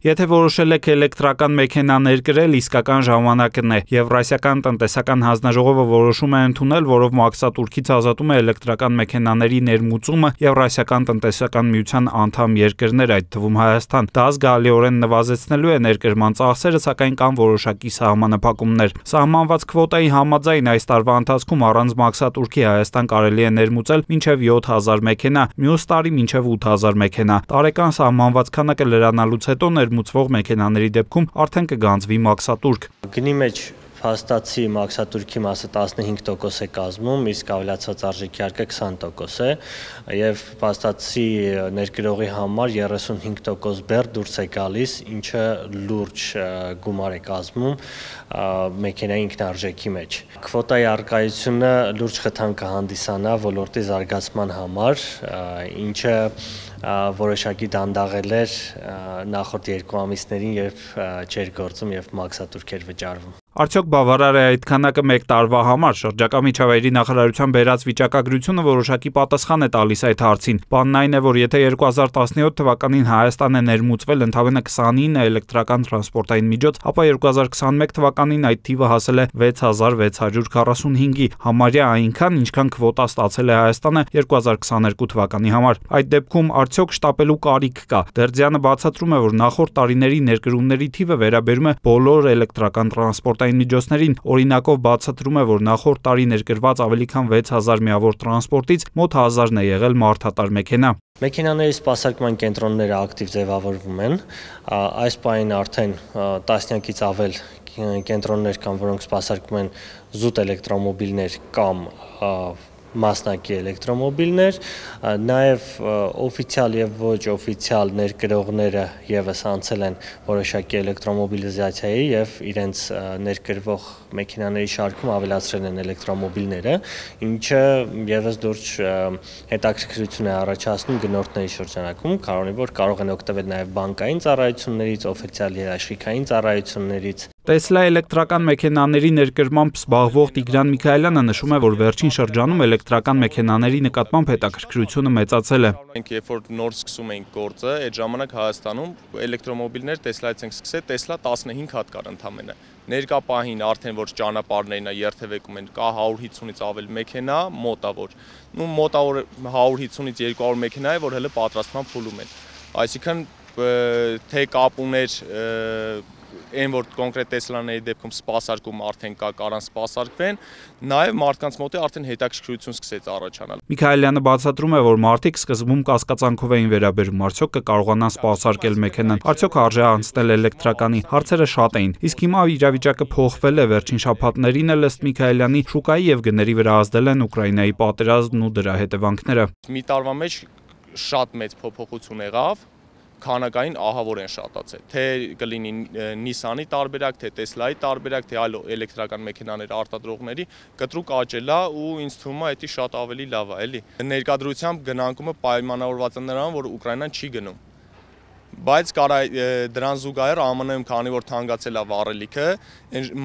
Եթե որոշել եք էլեկտրական մեքենա ներկրել, իսկական ժամանակն է։ Եվրասիական տնտեսական հանձնաժողովը որոշում է ընդունել, որով մաքսատուրքից ազատում է էլեկտրական մեքենաների ներմուծումը Եվրասիական տնտեսական միության անդամ երկրներ, այդ թվում Հայաստան։ Դա զգալիորեն նվազեցնելու է ներկրման ծախսերը, սակայն կան որոշակի սահմանափակումներ։ Սահմանված քվոտայի համաձայն այս տարվա ընթացքում առանց մաքսատուրքի Հայաստան կարելի է ներմուծել մինչև 7000 մեքենա, մյուս տարի մինչև 8000 մեքենա։ Տարեկան սահմանված քանակը լրանալուց հետո ներմուծվող մեքենաների դեպքում արդեն կգանձվի մաքսատուրք։ Գնի մեջ փաստացի մաքսատուրքի մասը 15% է կազմում, իսկ ավելացված արժեքի հարկը 20% է, եւ փաստացի ներկրողի համար 35% բեռ դուրս է գալիս, ինչը լուրջ գումար է կազմում մեքենայի ինքնարժեքի մեջ։ Քվոտայի առկայությունը լուրջ խթան կհանդիսանա ոլորտի զարգացման համար, ինչը որոշակի դանդաղել էր նախորդ 2 ամիսներին, երբ չէր գործում եւ մաքսատուրք էր վճարվում։ Արդյոք բավարար է այդ քանակը մեկ տարվա համար։ Շրջակա միջավայրի նախարարության բերած վիճակագրությունը որոշակի պատասխան է տալիս այդ հարցին։ Բանն այն է, որ եթե 2017 թվականին Հայաստանը ներմուծվել ընդամենը 29 էլեկտրական տրանսպորտային միջոց, ապա 2021 թվականին այդ թիվը հասել է 6645-ի, համարյա այնքան, ինչքան քվոտա ստացել է Հայաստանը 2022 թվականի համար։ Այդ դեպքում արդյոք շտապելու կարիք կա։ Դերձյանը բացատրում է, որ նախորդ տարիների ներկրումների թիվը վերաբերում է բոլոր էլեկտրական տրանսպորտային միջոցներին, օրինակով բացատրում է, որ նախորդ տարի ներկրված ավելի քան 6000 միավոր տրանսպորտից մոտ 1000-ն է եղել մարդատար մեքենա։ Մեքենաների սպասարկման կենտրոնները ակտիվ ձևավորվում են, այս պահին արդեն տասնյակից ավել կենտրոններ կան, որոնք սպասարկում են զուտ էլեկտրոմոբիլներ կամ մասնակի էլեկտրոմոբիլներ, նաև օֆիցիալ եւ ոչ օֆիցիալ ներկրողները եւս անցել են որոշակի էլեկտրոմոբիլիզացիայի եւ իրենց ներկրվող մեքենաների շարքում ավելացրել են էլեկտրոմոբիլները, ինչը եւս լուրջ հետաքրքրություն է առաջացնում գնորդների շրջանակում, քանի որ կարող են օգտվել նաև բանկային ծառայություններից, օֆիցիալ երաշխիքային ծառայություններից։ Տեսլա էլեկտրական մեքենաների ներկրմամբ զբաղվող Տիգրան Միքայելյանը նշում է, որ վերջին շրջանում էլեկտրական մեքենաների նկատմամբ հետաքրքրությունը մեծացել է։ Մենք երբ որ նոր սկսում էինք գործը, այդ ժամանակ Հայաստանում էլեկտրոմոբիլներ Տեսլայից ենք սկսել, Տեսլա 15 հատ կար ընդամենը։ Ներկա պահին արդեն որ ճանապարհներն է երթևեկում են, կա 150-ից ավել մեքենա, մոտավոր 150-ից 200 մեքենա է, որ հələ պատրաստման փուլում են։ Այսինքն թե կապ ուներ այն որ կոնկրետ Տեսլաների դեպքում սպասարկում արդեն կա, կարան սպասարկվեն, նաև մարդկանց մոտ արդեն հետաքրքրություն սկսեց առաջանալ։ Միքայելյանը բացատրում է, որ մարդիկ սկզբում կասկածանքով էին վերաբերում, արդյոք կկարողանան սպասարկել մեքենան, արդյոք արժե անցնել էլեկտրականի, հարցերը շատ էին։ Իսկ հիմա իրավիճակը փոխվել է, վերջին շաբաթներին էլ ըստ Միքայելյանի շուկայի եւ գների վրա ազդել են Ուկրաինայի պատերազմն ու դրա հետևանքները։ Մի տարվա մեջ շատ մեծ փոփոխություն եղավ, քանակային ահավոր են շատացել, թե կլինի Նիսանի տարբերակ, թե Տեսլայի տարբերակ, թե այլ էլեկտրական մեքենաներ արտադրողների, կտրուկ աճել է ու ինձ թվում է դա շատ ավելի լավ է, էլի։ Ներկայությամբ գնանկումը պայմանավորված է նրան, որ Ուկրաինան չի գնում։ Բայց դրան զուգահեռ ԱՄՆ-ում քանի որ թանկացել է վառելիքը,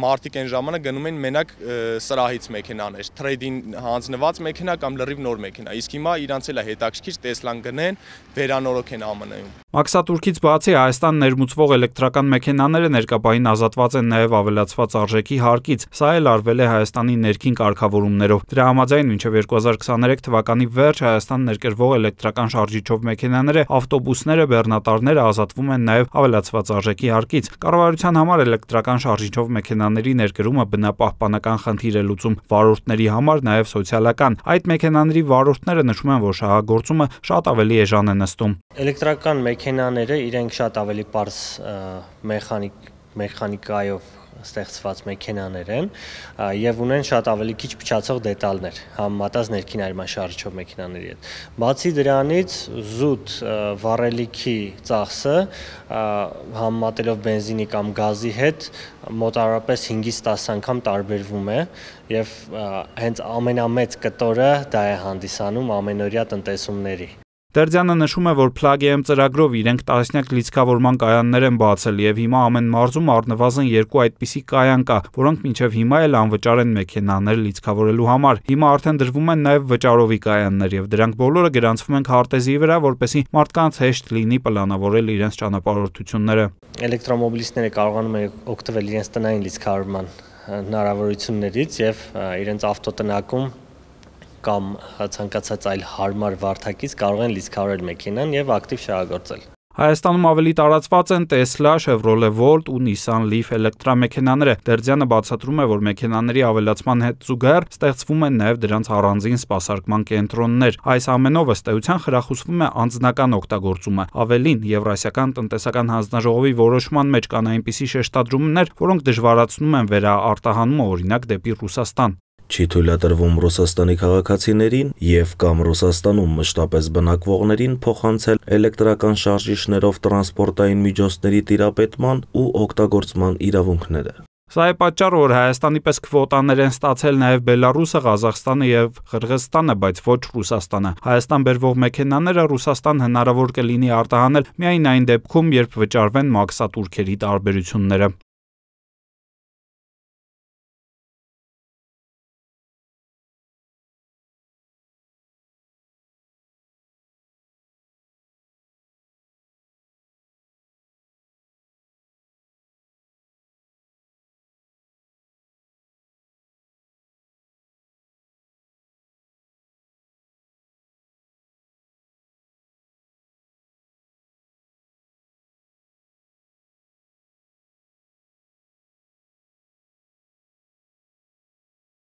մարդիկ այն ժամանակ գնում են մենակ սրահից մեքենաներ, թրեյդին հանձնված մեքենա կամ լրիվ նոր մեքենա, իսկ հիմա իրանց էլ է հետաքրքիր Տեսլան գնեն, վերանորոգեն ԱՄՆ-ում։ Մաքսատուրքից բացի Հայաստան ներմուծվող էլեկտրական մեքենաները ներկապային ազատված են նաև ավելացված արժեքի հարկից, սա էլ արվել է Հայաստանի ներքին կարգավորումներով։ Դրա համաձայն մինչև 2023 թվականի վերջ Հայաստան ներկրվող էլեկտրական շարժիչով մեքենաները, ավտոբուսները, բեռնատարները ազատվում են նաև ավելացված արժեքի հարկից։ Կառավարության համար էլեկտրական շարժիչով մեքենաների ներկրումը բնապահպանական խնդիր է լուծում, վարորդների համար նաև սոցիալական։ Այդ մեքենաների վարորդները նշում են, որ շահագործումը շատ ավելի էժան է նստում։ Էլեկտրական մեքենաները իրենք շատ ավելի պարզ մեխանիկայով ստեղծված մեքենաներ են եւ ունեն շատ ավելի քիչ փչացող դետալներ համեմատած ներքին այրման շարժիչով մեքենաների հետ։ Բացի դրանից զուտ վառելիքի ծախսը համեմատելով բենզինի կամ գազի հետ մոտավորապես 5-ից 10 անգամ տարբերվում է եւ հենց ամենամեծ կտորը դա է հանդիսանում ամենօրյա տնտեսումների։ Դերձյանը նշում է, որ Plug-M ծրագրով իրենք տասնյակ լիցքավորման կայաններ են բացել եւ հիմա ամեն մարզում առնվազն 2 այդպիսի կայան կա, որոնք մինչեւ հիմա էլ անվճար են մեքենաներ լիցքավորելու համար։ Հիմա արդեն դրվում են նաեւ վճարովի կայաններ եւ դրանք բոլորը գրանցվում են քարտեզի վրա, որպեսզի մարդկանց հեշտ լինի պլանավորել իրենց ճանապարհորդությունները։ Էլեկտրոմոբիլիստները կարողանում են օգտվել իրենց տնային լիցքավորման հնարավորություններից եւ իրենց ավտոտնակում կամ ցանկացած այլ հարմար վարդակից կարող են լիցքավորել մեքենան եւ ակտիվ շահագործել։ Հայաստանում ավելի տարածված են Tesla, Chevrolet Volt ու Nissan Leaf էլեկտրամեքենաները։ Դերձյանը բացատրում է, որ մեքենաների ավելացման հետ զուգահեռ ստեղծվում են նաև դրանց առանձին սպասարկման կենտրոններ։ Այս ամենով ըստ էության խրախուսվում է անձնական օգտագործումը։ Ավելին, Եվրասիական տնտեսական հանձնաժողովի որոշման մեջ կան այնպիսի շեշտադրումներ, որոնք դժվարացնում են վերաարտահանումը, օրինակ դեպի Ռուսաստան։ Չի թույլատրվում Ռուսաստանի քաղաքացիներին եւ կամ Ռուսաստանում մշտապես բնակվողներին փոխանցել էլեկտրական շարժիչներով տրանսպորտային միջոցների տիրապետման ու օգտագործման իրավունքները։ Սա է պատճառը, որ Հայաստանի պես քվոտաներ են ստացել նաև Բելարուսը, Ղազախստանը եւ Ղրղզստանը, բայց ոչ Ռուսաստանը։ Հայաստան բերվող մեքենաները Ռուսաստան հնարավոր կլինի արտահանել միայն այն դեպքում, երբ վճարվեն մաքսատուրքերի տարբերությունները։